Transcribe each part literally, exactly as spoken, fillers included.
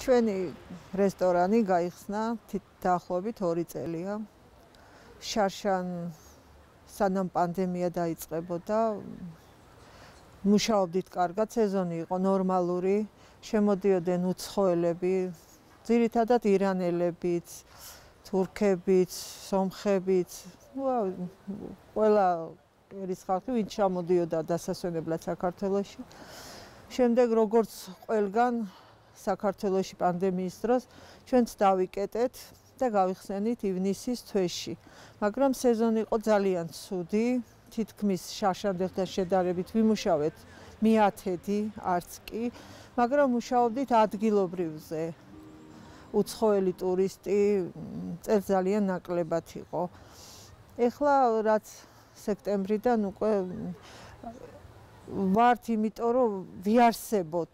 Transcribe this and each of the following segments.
ჩვენი რესტორანი გაიხსნა დაახლოებით ორი წელია. შარშან სანამ პანდემია დაიწყებოდა, მუშაობდით კარგად, სეზონი იყო ნორმალური, შემოდიოდნენ უცხოელები, ძირითადად ირანელებიც, თურქებიც, სომხებიც, ყველა ერის ხალხი, ვინც ჩამოდიოდა დასასვენებლად საქართველოში. შემდეგ როგორც ყველგან საქართველოში პანდემიის დროს ჩვენც დავიკეტეთ და გავიხსენით ივნისის თვეში. მაგრამ სეზონი იყო ძალიან ცუდი, თითქმის შარშანდელთან შედარებით ვიმუშავეთ მეათედი, არც კი, მაგრამ მუშაობდით ადგილობრივზე. უცხოელი ტურისტი წელს ძალიან ნაკლებად იყო. ეხლა რაც სექტემბრიდან უკვე ვართ, იმიტომ რომ ვიარსებოთ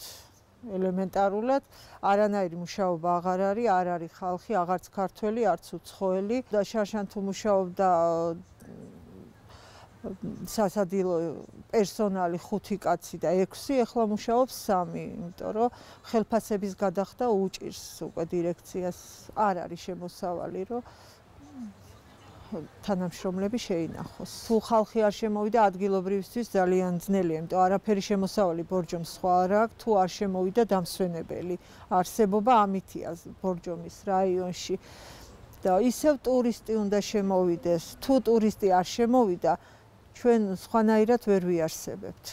ელემენტარულად, არანაირი მუშაობა აღარ არის, არ არის ხალხი, აღარც ქართველი, არც უცხოელი და შარშან თუ მუშაობდა სასადილო პერსონალი ხუთი კაცი და ექვსი, ეხლა მუშაობს სამი, იმიტომ რომ ხელფასების გადახდა უჭირს უკვე დირექციას, არ არის შემოსავალი, რომ თანამშრომლები შეინახოს. თუ ხალხი არ შემოვიდა ადგილობრივისთვის ძალიან ძნელია, იმიტომ არაფერი შემოსავალი ბორჯომს სხვა არ აქვს, თუ არ შემოვიდა დამსვენებელი. არსებობა ამითია ბორჯომის რაიონში. და ისევ ტურისტი უნდა შემოვიდეს. თუ ტურისტი არ შემოვიდა, ჩვენ სხვანაირად ვერ ვიარსებებთ.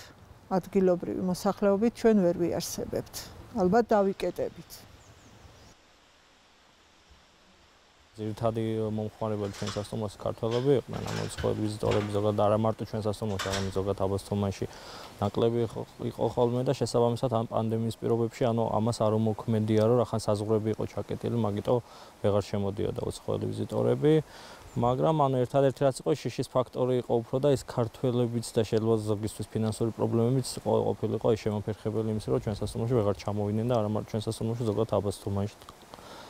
ადგილობრივი მოსახლეობით ჩვენ ვერ ვიარსებებთ. ალბათ დავიკეტებით. ძირითადი მომხმარებელი ჩვენ სასტუმროში ქართველები იყვნენ, ანუ უცხოელი ვიზიტორები ზოგადად არა მარტო ჩვენ სასტუმროში, არამედ ზოგადად აბასთუმანში ნაკლები იყო ხოლმე და შესაბამისად ამ პანდემიის პირობებში, ანუ ამას არ უმოქმედია, რომ რახან საზღვრები იყო ჩაკეტილი, მაგიტომ ვეღარ შემოდიოდა უცხოელი ვიზიტორები. მაგრამ ანუ ერთადერთი რაც იყო შიშის ფაქტორი იყო უფრო და ის ქართველებიც და შეიძლება ზოგისთვის ფინანსური პრობლემებიც ყოფილიყო ის შემოფერხებელი იმის, რომ ჩვენ სასტუმროში ვეღარ ჩამოვიდნენ და არა მარტო ჩვენ სასტუმროში, ზოგადად აბასთუმანში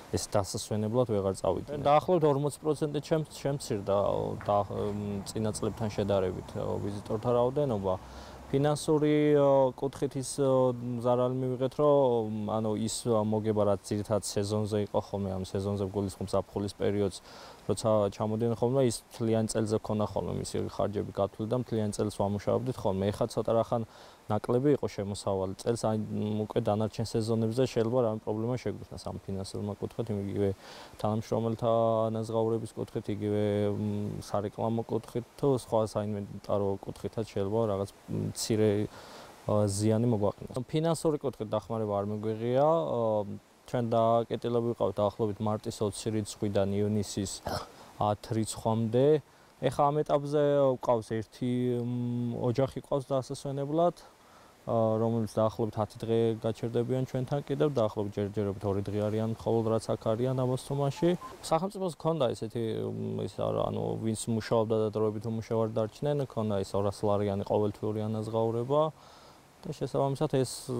ეს დასასვენებლად ვეღარ წავიდნენ. დაახლოებით ორმოცი პროცენტი შემცირდა წინა წლებთან შედარებით ვიზიტორთა რაოდენობა. ფინანსური კუთხით ის ზარალი მივიღეთ, რომ ანუ ის მოგება რაც ძირითადად სეზონზე იყო ხოლმე, ამ სეზონზე გულისხმობს ზაფხულის პერიოდს, როცა ჩამოდიან ხოლმე, ის მთლიან წელზე ქონა ხოლმე მისი ხარჯები გათვლილი და მთლიან წელს ვამუშავებდით ხოლმე. ეხლა ცოტა რახან ნაკლები იყო შემოსავალი წელს, აი უკვე დანარჩენ სეზონებზე შეიძლება რამე პრობლემა შეგვიხსნას ამ ფინანსურმა კუთხით, იგივე თანამშრომელთა ანაზღაურების კუთხით, იგივე სარეკლამო კუთხით თუ სხვა საინვენტარო კუთხითაც შეიძლება რაღაც მცირე ზიანი მოგვაყენოს. ფინანსური კუთხით დახმარება არ მიგვიღია. ჩვენ დაკეტილები ვიყავით დაახლოებით მარტის ოცი რიცხვიდან ივნისის ათი რიცხვამდე. ეხლა ამ ეტაპზე ვყავს ერთი ოჯახი ყავს დასასვენებლად, რომელიც დაახლოებით ათი დღე გაჩერდებიან ჩვენთან კიდევ, დაახლოებით ჯერჯერობით ორი დღე არიან მხოლოდ რაც აქ არიან აბასთუმანში. სახელმწიფოს ჰქონდა ესეთი ის ანუ ვინც მუშაობდა და დროებით უმუშევარ დარჩნენ, ჰქონდა ის ორასი ლარიანი ყოველთვიური ანაზღაურება. და შესაბამისად ეს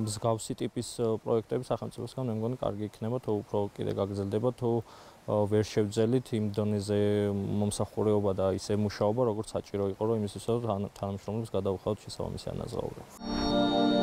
მსგავსი ტიპის პროექტები სახელმწიფოსგან მე მგონი კარგი იქნება, თუ უფრო კიდე გაგრძელდება, თუ ვერ შევძელით იმ დონეზე მომსახურეობა და ისე მუშაობა, როგორც საჭირო იყო, რომ იმისათვის თანამშრომლებს გადავუხავთ შესაბამისი ანაზღაურება.